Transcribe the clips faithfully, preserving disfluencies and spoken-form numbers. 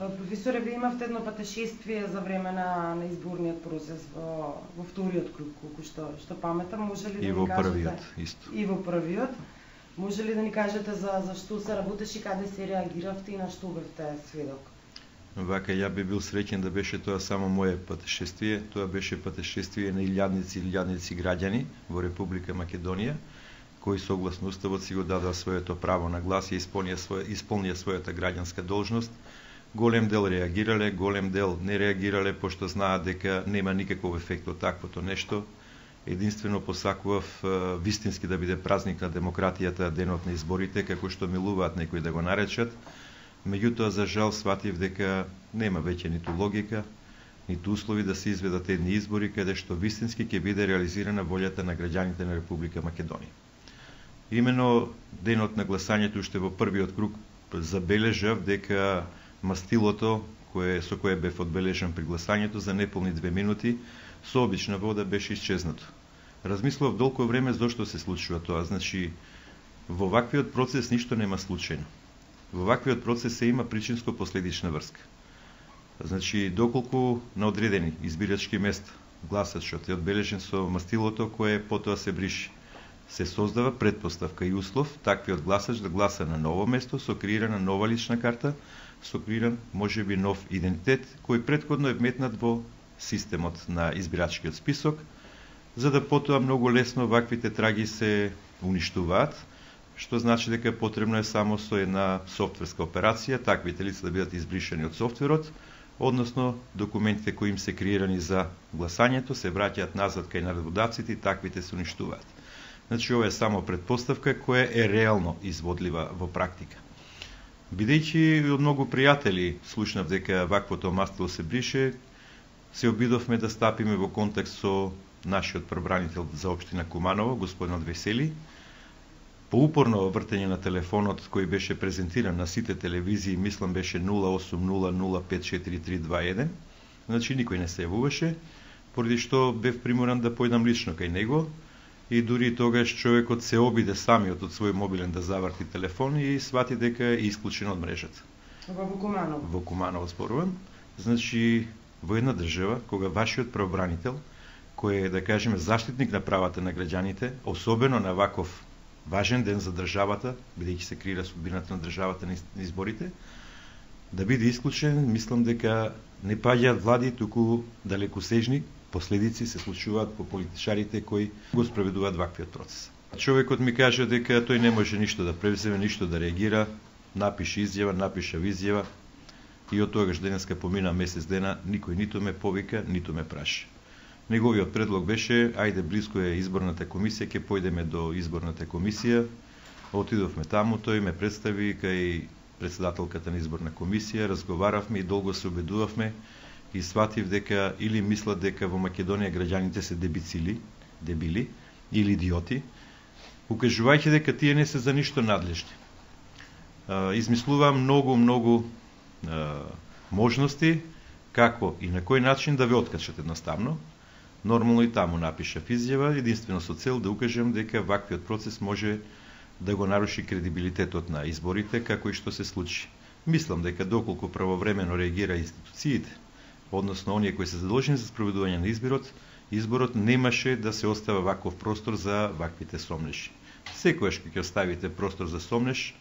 Професоре, вие имавте едно патешествие за време на, на изборниот процес во, во вториот круг, колку што, што паметам, може ли да и ни во кажете... првиот, исто. И во првиот. Може ли да ни кажете за, за што се работеше, каде се реагиравте и на што бевте сведок? Вака, ја би бил среќен да беше тоа само моје патешествие. Тоа беше патешествие на илјадници и илјадници граѓани во Република Македонија, кои согласно Уставот си го дадоа своето право на глас и исполнија, своја, исполнија својата граѓанска должност. Голем дел реагирале, голем дел не реагирале, пошто знаат дека нема никаков ефект од таквото нешто. Единствено посакував вистински да биде празник на демократијата денот на изборите, како што милуваат некои да го наречат. Меѓутоа, за жал, сватив дека нема веќе ниту логика, ниту услови да се изведат едни избори каде што вистински ќе биде реализирана волјата на граѓаните на Република Македонија. Имено денот на гласањето уште во првиот круг забележав дека мастилото кое со кое бев одбележан при гласањето за неполни две минути со обична вода беше исчезнато. Размислував долго време зошто се случува тоа. Значи, во ваквиот процес ништо нема случајно. Во ваквиот процес се има причинско-последична врска. Значи, доколку на одредени избирачки места гласачот е одбележен со мастилото кое потоа се бриши, се создава предпоставка и услов таквиот гласач да гласа на ново место со креирана нова лична карта, со креиран можеби нов идентитет кој претходно е вметнат во системот на избирачкиот список, за да потоа многу лесно ваквите траги се уништуваат, што значи дека потребно е само со една софтверска операција таквите лица да бидат избришани од софтверот, односно документите кои им се креирани за гласањето се враќаат назад кај наредбодавците и таквите се уништуваат. Значи, ова е само предпоставка која е реално изводлива во практика. Бидејќи од многу пријатели слушнав дека ваквото мастило се брише, се обидовме да стапиме во контакт со нашиот пробранител за општина Куманово, господинот Весели. По упорно вртење на телефонот кој беше презентиран на сите телевизии, мислам беше нула осум нула нула пет четири три два еден, значи никој не се јавуваше, поради што бев приморан да појдам лично кај него и дури тогаш човекот се обиде самиот од свој мобилен да заврти телефон и свати дека е исклучен од мрежата. Во Куманово? Во Куманово зборувам. Значи, во една држава, кога вашиот правобранител, кој е, да кажеме, заштитник на правата на граѓаните, особено на ваков важен ден за државата, бидејќи се креира судбината на државата на изборите, да биде исклучен, мислам дека не паѓаат влади, туку далекосежни последици се случуваат по политичарите кои го спроведуваат ваквиот процес. Човекот ми каже дека тој не може ништо да превземе, ништо да реагира, напише изјава, напиша изјава и од тогаш денеска помина месец дена, никој ниту ме повика, ниту ме праша. Неговиот предлог беше, ајде близко е изборната комисија, ќе појдеме до изборната комисија. Отидовме таму, тој ме представи кај председателката на изборна комисија, разговаравме и долго се убедувавме и сватив дека или мислат дека во Македонија граѓаните се дебицили, дебили или идиоти, укажувајќи дека тие не се за ништо надлежни. Измислуваа многу, многу можности како и на кој начин да ве откачат едноставно. Нормално и таму напишав изјава, единствено со цел да укажем дека ваквиот процес може да го наруши кредибилитетот на изборите, како и што се случи. Мислам дека доколку правовремено реагира институциите, односно оние кои се задолжени за спроведување на изборот, изборот немаше да се остава ваков простор за ваквите сомнеши. Секојаш кога ќе оставите простор за сомнеш,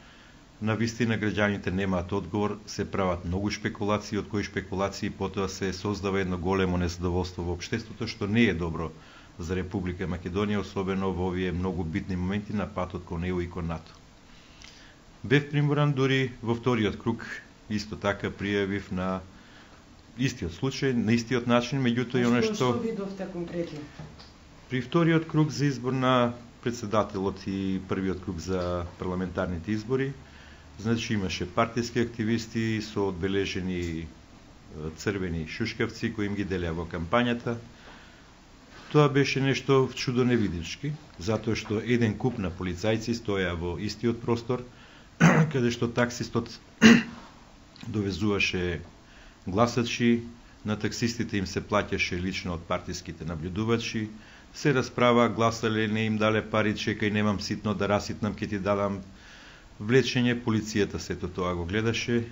на вистина граѓаните немаат одговор, се прават многу шпекулации, од кои шпекулации потоа се создава едно големо незадоволство во општеството, што не е добро за Република Македонија, особено во овие многу битни моменти на патот кон Е У и кон НАТО. Бев приморан дури во вториот круг, исто така пријавив на истиот случај, на истиот начин, меѓутоа и оно што... Што видовте конкретно? При вториот круг за избор на председателот и првиот круг за парламентарните избори, значи имаше партиски активисти со одбележени црвени шушкавци кои им ги делеа во кампањата. Тоа беше нешто чудо невидички, затоа што еден куп на полицајци стоја во истиот простор, каде што таксистот довезуваше гласачи, на таксистите им се плаќаше лично од партиските наблюдувачи, се расправа, гласале, не им дале пари, чекај, немам ситно да раситнам, ќе ти дадам влечење, полицијата сето тоа го гледаше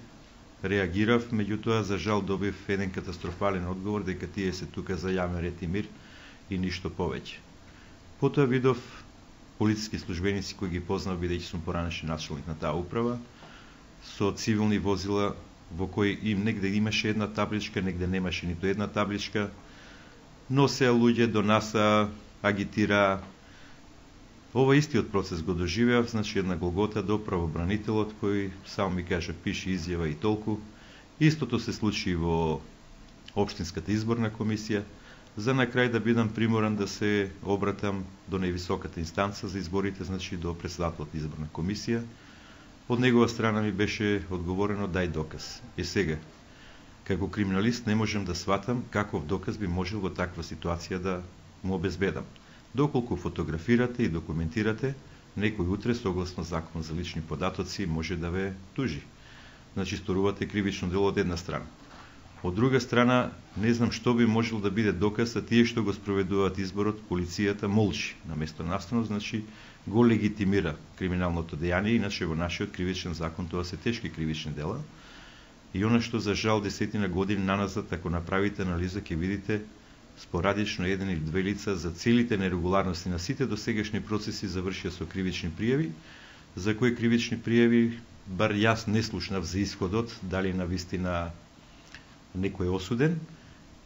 реагирав, меѓутоа за жал добив еден катастрофален одговор дека тие се тука за јавен ред и мир и ништо повеќе. Потоа видов полициски службеници кои ги познав бидејќи сум поранешен началник на таа управа, со цивилни возила во кои им негде имаше една табличка, негде немаше ниту една табличка, носеа луѓе до НАСА, агитира. Ова истиот процес го доживеав, значи една голгота до правобранителот кој само ми кажа пиши изјава и толку. Истото се случи во Општинската изборна комисија, за на крај да бидам приморан да се обратам до највисоката инстанца за изборите, значи до председателот изборна комисија. Од негова страна ми беше одговорено дај доказ. И сега, како криминалист не можем да сватам каков доказ би можел во таква ситуација да му обезбедам. Доколку фотографирате и документирате, некој утре согласно закон за лични податоци може да ве тужи. Значи сторувате кривично дело од една страна. Од друга страна, не знам што би можел да биде доказ, а тие што го спроведуваат изборот, полицијата молчи. Наместо наставно, значи, го легитимира криминалното дејание, иначе во нашиот кривичен закон тоа се тешки кривични дела. И она што за жал десетина години наназад, ако направите анализа, ќе видите спорадично еден или две лица за целите нерегуларности на сите досегашни процеси завршија со кривични пријави, за кои кривични пријави бар јас не слушнав за исходот, дали на вистина некој е осуден,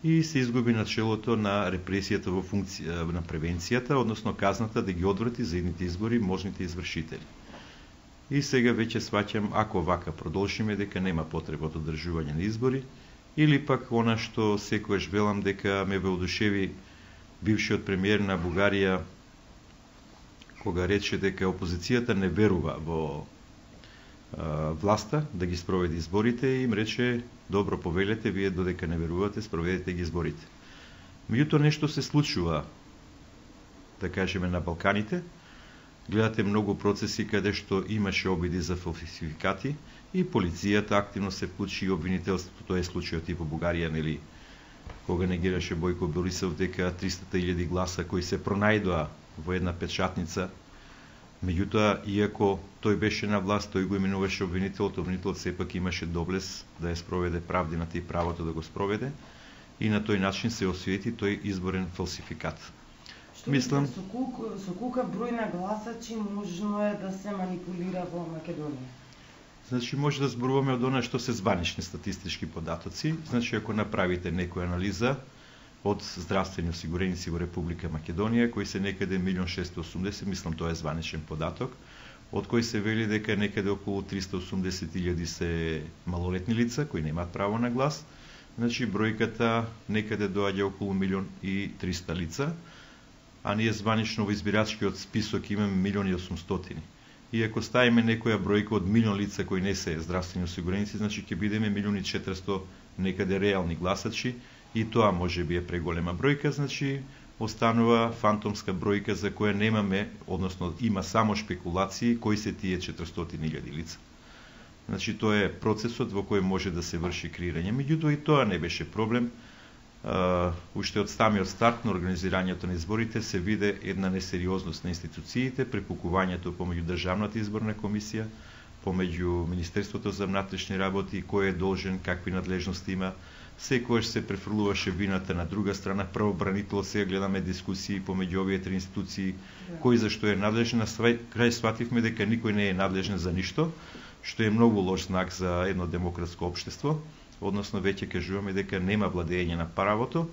и се изгуби начелото на репресијата во функција на превенцијата, односно казната да ги одврати за едните избори можните извршители. И сега веќе сваќам, ако вака продолжиме, дека нема потреба од одржување на избори, или пак она што секојаш велам дека ме воодушеви бившиот премиер на Бугарија, кога рече дека опозицијата не верува во а, власта да ги спроведе изборите, и им рече: добро, повелете, вие додека не верувате, спроведете ги изборите. Меѓутоа нешто се случува, да кажеме, на Балканите. Гледате многу процеси каде што имаше обиди за фалсификати и полицијата активно се вклучи, и обвинителството. Тоа е случајот и во Бугарија, нели, кога негираше Бојко Борисов дека триста илјади гласа кои се пронајдоа во една печатница. Меѓутоа, иако тој беше на власт, тој го именуваше обвинителот, обвинителот сепак имаше доблес да ја спроведе правдината и правото да го спроведе, и на тој начин се освети тој изборен фалсификат. Што мислам, со колку со колку број на гласачи можно е да се манипулира во Македонија? Значи може да зборуваме од она што се званични статистички податоци. Значи ако направите некоја анализа од здравствени осигуреници во Република Македонија, кои се некаде милион шестоста и осумдесет, мислам тоа е званичен податок, од кој се вели дека некаде околу триста и осумдесет илјади се малолетни лица кои немаат право на глас. Значи бројката некаде доаѓа околу милион и триста лица, а ние званично во избирачкиот список имаме милион и осумстотини. И ако ставиме некоја бројка од милион лица кои не се здравствени осигуреници, значи ќе бидеме милион и четиристо некаде реални гласачи, и тоа може би е преголема бројка, значи останува фантомска бројка за која немаме, односно има само шпекулации кои се тие четиристотини илјади лица. Значи тоа е процесот во кој може да се врши креирање. Меѓутоа и тоа не беше проблем. Uh, уште од самиот старт на организирањето на изборите се виде една несериозност на институциите, препукувањето помеѓу Државната изборна комисија, помеѓу Министерството за внатрешни работи, кој е должен, какви надлежности има. Секојаш се префрлуваше вината на друга страна, правобранител. Сега гледаме дискусии помеѓу овие три институции, кој зашто е надлежен. На крај свативме дека никој не е надлежен за ништо, што е многу лош знак за едно демократско општество. Односно веќе кажуваме дека нема владење на правото,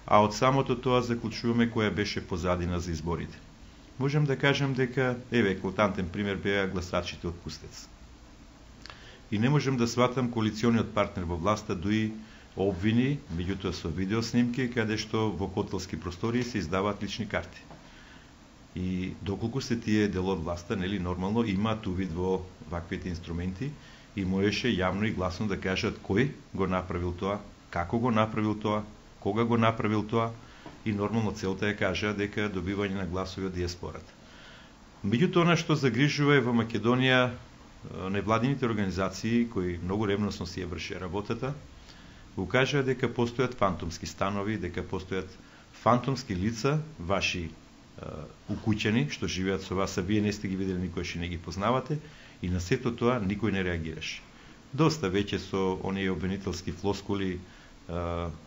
а од самото тоа заклучуваме која беше позадина за изборите. Можем да кажем дека, еве, еклатантен пример беа гласачите од Кустец. И не можем да сватам коалициониот партнер во власта дуи обвини, меѓутоа со видеоснимки, каде што во хотелски простории се издаваат лични карти. И доколку се тие дел од власта, нели нормално имаат увид во ваквите инструменти, и можеше јавно и гласно да кажат кој го направил тоа, како го направил тоа, кога го направил тоа, и нормално целта е кажа дека добивање на гласови од диаспората. Меѓутоа, она што загрижува е во Македонија, невладините организации кои многу ревносно си ја врши работата, го кажа дека постојат фантомски станови, дека постојат фантомски лица, ваши укуќени, што живеат со вас, а вие не сте ги видели никој, што не ги познавате, и на сето тоа никој не реагираше. доста веќе со оние обвинителски флоскули.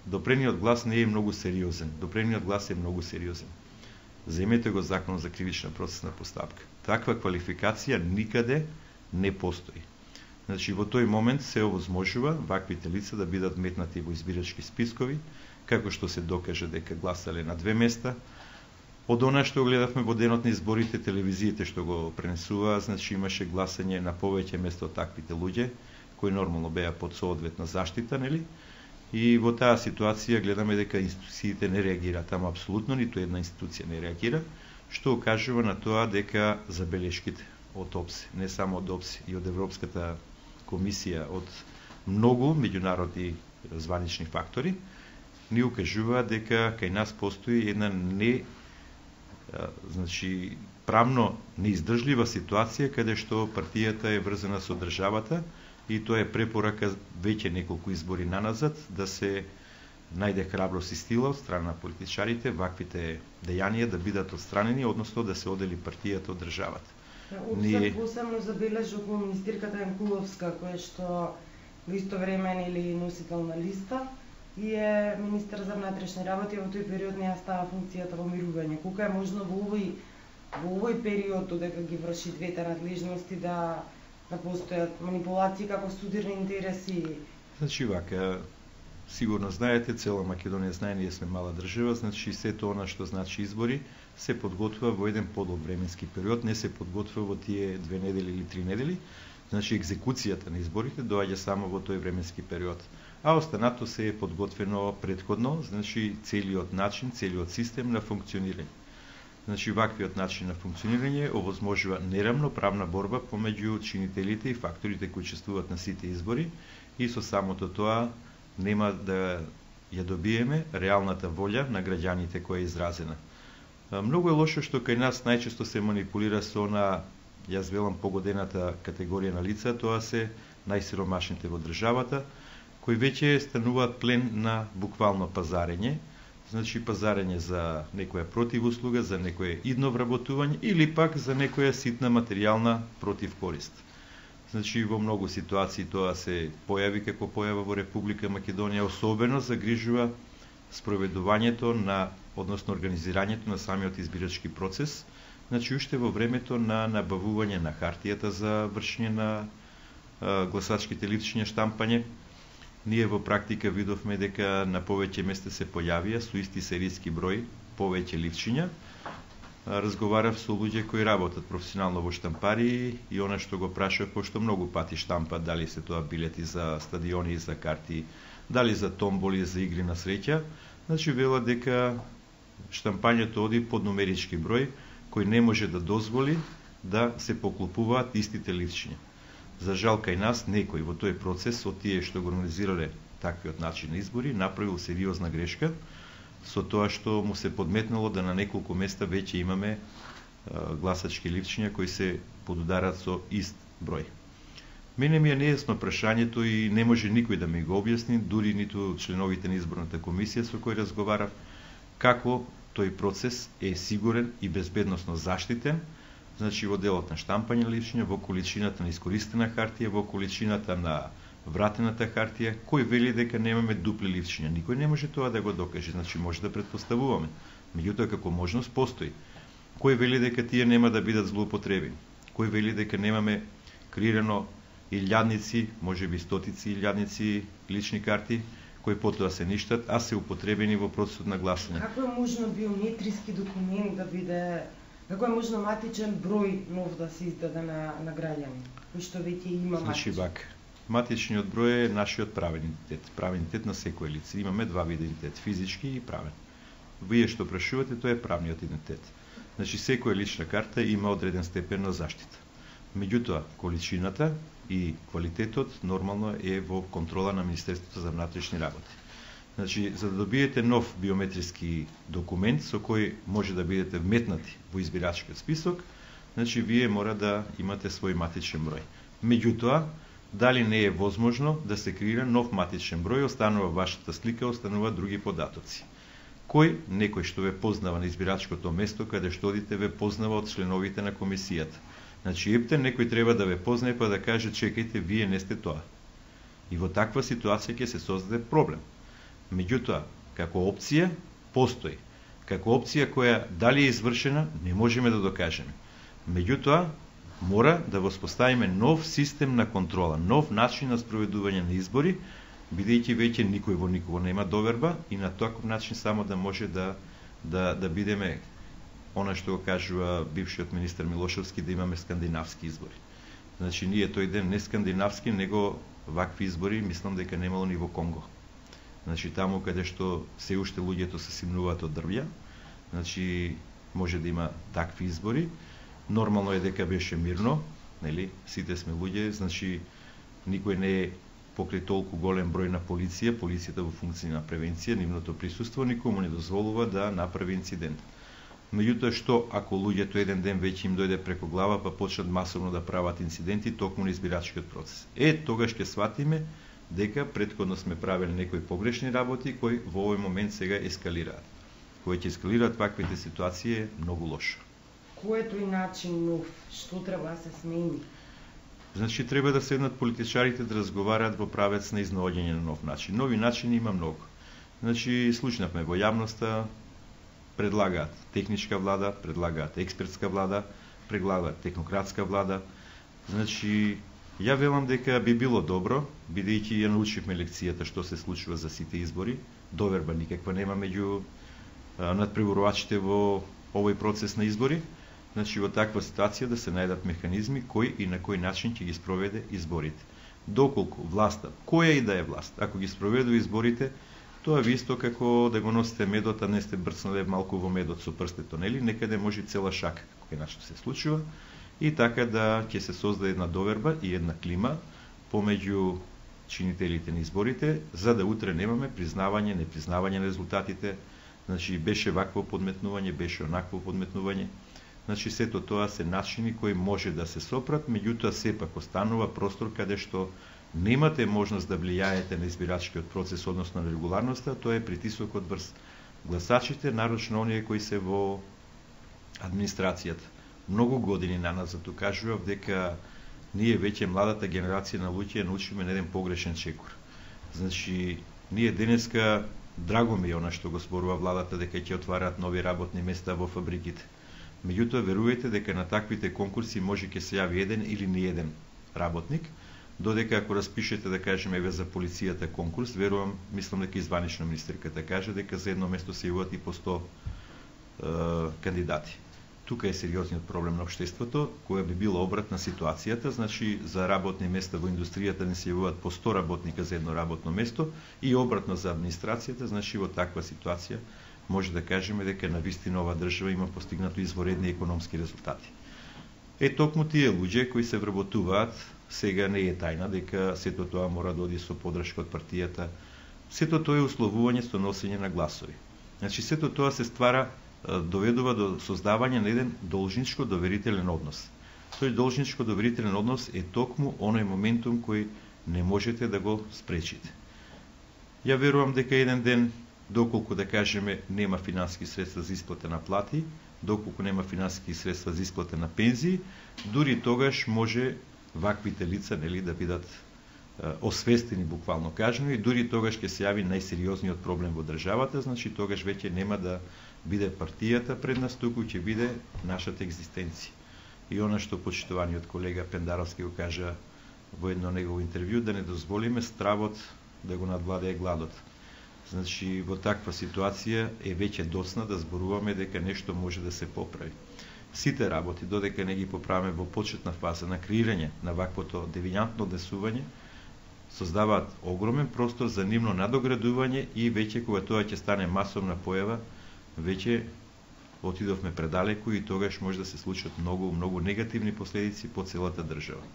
Допрениот глас не е многу сериозен. Допрениот глас е многу сериозен. Земете го Законот за кривична процесна постапка. Таква квалификација никаде не постои. Значи, во тој момент се овозможува ваквите лица да бидат метнати во избирачки спискови, како што се докаже дека гласале на две места. Од она што гледавме во денот на изборите, телевизиите што го пренесуваа, значи имаше гласање на повеќе место од таквите луѓе, кои нормално беа под соодветна заштита, нели? И во таа ситуација гледаме дека институциите не реагираат, ама апсолутно ниту една институција не реагира, што ukажува на тоа дека забелешките од ОПСЕ, не само од ОПСЕ, и од Европската комисија, од многу меѓународни званични фактори, ни укажува дека кај нас постои една не значи правно неиздржлива ситуација каде што партијата е врзана со државата, и тоа е препорака веќе неколку избори наназад да се најде храброст и стила од страна на политичарите ваквите дејанија да бидат отстранени, односно да се одели партијата од државата. Ние посебно забележа околу министерката Јанкуловска, која што во исто време или носител на листа и е министер за внатрешни работи, во тој период не ја става функцијата во мирување. Колку е можно во овој во овој период додека ги врши двете надлежности да да постојат манипулации како студирни интереси? Значи вака, сигурно знаете, цела Македонија знае, ние сме мала држава, значи сето она што значи избори се подготвува во еден подолг временски период, не се подготвува во тие две недели или три недели. Значи екзекуцијата на изборите доаѓа само во тој временски период. А останато се е подготвено претходно, значи целиот начин, целиот систем на функционирање. Значи ваквиот начин на функционирање овозможува нерамноправна борба помеѓу чинителите и факторите кои учествуваат на сите избори, и со самото тоа нема да ја добиеме реалната волја на граѓаните која е изразена. Многу е лошо што кај нас најчесто се манипулира со на, јас велам, погодената категорија на лица, тоа се најсиромашните во државата, кои веќе стануваат плен на буквално пазарење, значи пазарење за некоја противуслуга, за некое идно вработување или пак за некоја ситна материјална противкорист. Значи во многу ситуации тоа се појави како појава во Република Македонија, особено загрижува спроведувањето на, односно организирањето на самиот избирачки процес, значи уште во времето на набавување на хартијата за вршење на а, гласачките листчиња, штампање. Ние во практика видовме дека на повеќе места се појавија со исти серијски број повеќе листчиња. Разговарав со луѓе кои работат професионално во штампари и она што го прашав, пошто многу пати штампат, дали се тоа билети за стадиони и за карти, дали за томболи, за игри на среќа, значи вела дека штампањето оди под нумерички број кој не може да дозволи да се поклопуваат истите листчиња. За жал кај нас некој во тој процес од тие што го организирале таквиот начин на избори направил сериозна грешка со тоа што му се подметнало да на неколку места веќе имаме а, гласачки листчиња кои се подударат со ист број. Мене ми е нејасно прашањето и не може никој да ми го објасни, дури ниту членовите на изборната комисија со кои разговарав, како тој процес е сигурен и безбедносно заштитен. Значи во делот на штампање на листчиња, во количината на искористена хартија, во количината на вратената хартија, кој вели дека немаме дупли листчиња. Никој не може тоа да го докаже, значи може да претпоставуваме. Меѓутоа како можност постои. Кој вели дека тие нема да бидат злоупотребени? Кој вели дека немаме креирано илјадници, можеби стотици илјадници лични карти, кои потоа се ништат, а се употребени во процесот на гласање? Како е можно биометриски документ да биде, како е можно матичен број нов да се издаде на, на граѓани, кој што веќе има матич? Значи вака, матичниот број е нашиот правен идентитет, правен идентитет на секој лице. Имаме два вида идентитет, физички и правен. Вие што прашувате, тоа е правниот идентитет. Значи секоја лична карта има одреден степен на заштита. Меѓутоа, количината и квалитетот нормално е во контрола на Министерството за внатрешни работи. Значи, за да добиете нов биометриски документ со кој може да бидете вметнати во избирачкиот список, значи вие мора да имате свој матичен број. Меѓутоа, дали не е возможно да се креира нов матичен број, останува вашата слика, останува други податоци. Кој некој што ве познава на избирачкото место каде што одите ве познава од членовите на комисијата. Значи, епте некој треба да ве познае па да каже чекајте, вие не сте тоа. И во таква ситуација ќе се создаде проблем. Меѓутоа, како опција постои. Како опција која дали е извршена, не можеме да докажеме. Меѓутоа, мора да воспоставиме нов систем на контрола, нов начин на спроведување на избори, бидејќи веќе никој во никого нема доверба и на таков начин само да може да да да бидеме она што го кажува бившиот министер Милошевски, да имаме скандинавски избори. Значи ние тој ден не скандинавски, него вакви избори мислам дека немало ни во Конго. Значи таму каде што се уште луѓето се симнуваат од дрвја, значи може да има такви избори. Нормално е дека беше мирно, нели? Сите сме луѓе, значи никој не е покрај толку голем број на полиција, полицијата во функција на превенција, нивното присуство никому не дозволува да направи инцидент. Меѓутоа, што ако луѓето еден ден веќе им дојде преко глава, па почнат масовно да прават инциденти токму на избирачкиот процес? Е, тогаш ќе сватиме дека претходно сме правели некои погрешни работи кои во овој момент сега ескалираат. Кои ќе ескалираат ваквите ситуации е многу лошо. Кој е тој начин нов? Што треба да се смени? Значи треба да седнат политичарите да разговараат во правец на изнаоѓање на нов начин. Нови начини има многу. Значи слушнавме во јавноста, предлагаат техничка влада, предлагаат експертска влада, предлагаат технократска влада. Значи ја велам дека би било добро, бидејќи ја научивме лекцијата што се случува за сите избори, доверба никаква нема меѓу надпреварувачите во овој процес на избори. Значи во таква ситуација да се најдат механизми кој и на кој начин ќе ги спроведе изборите. Доколку власта, која и да е власт, ако ги спроведува изборите, тоа ви исто како да го носите медот, а не сте брцнале малку во медот со прстето, нели? Некаде може цела шака, како иначе се случува, и така да ќе се создаде една доверба и една клима помеѓу чинителите на изборите, за да утре немаме признавање, непризнавање на резултатите. Значи беше вакво подметнување, беше онакво подметнување. Значи сето тоа се начини кои може да се сопрат, меѓутоа сепак останува простор каде што немате можност да влијаете на избирачкиот процес, односно на регуларноста, тоа е притисокот врз гласачите, нарочно оние кои се во администрацијата. Многу години наназад кажував дека ние веќе младата генерација на луѓе научиме на еден погрешен чекор. Значи ние денеска драго ми е она што го зборува владата дека ќе отвараат нови работни места во фабриките. Меѓутоа верувајте дека на таквите конкурси може ќе се јави еден или ни еден работник, додека ако распишете да кажеме еве за полицијата конкурс, верувам, мислам дека изванична министерката каже дека за едно место се јавуваат и по сто е, кандидати. Тука е сериозниот проблем на општеството, која би била обратна ситуацијата, значи за работни места во индустријата не се јавуваат по сто работника за едно работно место и обратно за администрацијата, значи во таква ситуација може да кажеме дека на вистина ова држава има постигнато изворедни економски резултати. Е токму тие луѓе кои се вработуваат, сега не е тајна дека сето тоа мора да оди со подршка од партијата. Сето тоа е условување со носење на гласови. Значи сето тоа се ствара, доведува до создавање на еден должничко доверителен однос. Тој должничко доверителен однос е токму оној моментум кој не можете да го спречите. Ја верувам дека еден ден, доколку да кажеме нема финансиски средства за исплата на плати, доколку нема финансиски средства за исплата на пензии, дури тогаш може ваквите лица, нели, да бидат е, освестени буквално кажано, и дури тогаш ќе се јави најсериозниот проблем во државата, значи тогаш веќе нема да биде партијата пред нас, туку ќе биде нашата екзистенција. И она што почитуваниот колега Пендаровски го кажа во едно негово интервју, да не дозволиме стравот да го надвладее гладот. Значи, во таква ситуација е веќе доцна да зборуваме дека нешто може да се поправи. Сите работи, додека не ги поправиме во почетна фаза на креирање на ваквото девијантно однесување, создаваат огромен простор за нивно надоградување и веќе кога тоа ќе стане масовна појава, веќе отидовме предалеку и тогаш може да се случат многу, многу негативни последици по целата држава.